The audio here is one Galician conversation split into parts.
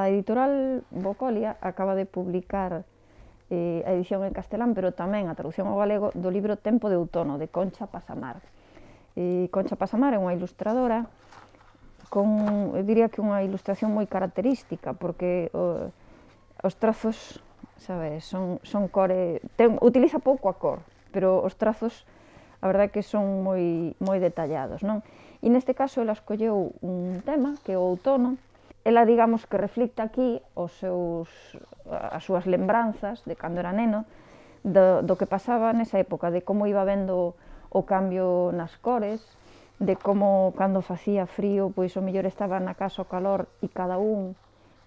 editorial Bocolia acaba de publicar a edición en castelán, pero tamén a traducción ao galego do libro Tempo de outono, de Concha Pasamar. Concha Pasamar é unha ilustradora con, eu diría que unha ilustración moi característica, porque os trazos, sabes, son core, utiliza pouco a cor, pero os trazos, a verdade é que son moi detallados, non? E neste caso ela escolleu un tema, que é o outono. Ela, digamos, que reflicta aquí as súas lembranzas de cando era neno, do que pasaba nesa época, de como iba vendo o cambio nas cores, de como cando facía frío, pois o mellor estaba na casa o calor e cada un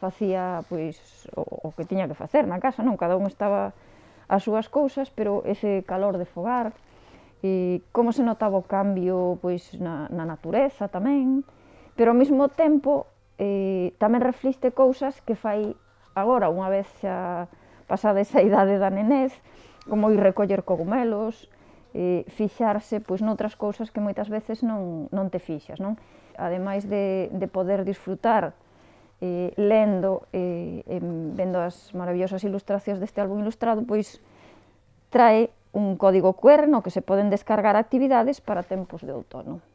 facía pois o que tiña que facer na casa, non? Cada un estaba as súas cousas, pero ese calor de fogar, e como se notaba o cambio pois na natureza tamén, pero ao mesmo tempo tamén reflicte cousas que fai agora, unha vez xa pasada esa idade da nenez, como ir recoller cogumelos, fixarse pois noutras cousas que moitas veces non te fixas, non? Ademais de poder disfrutar lendo e vendo as maravillosas ilustracións deste álbum ilustrado, pois trae un código QR no que se poden descargar actividades para tempos de outono.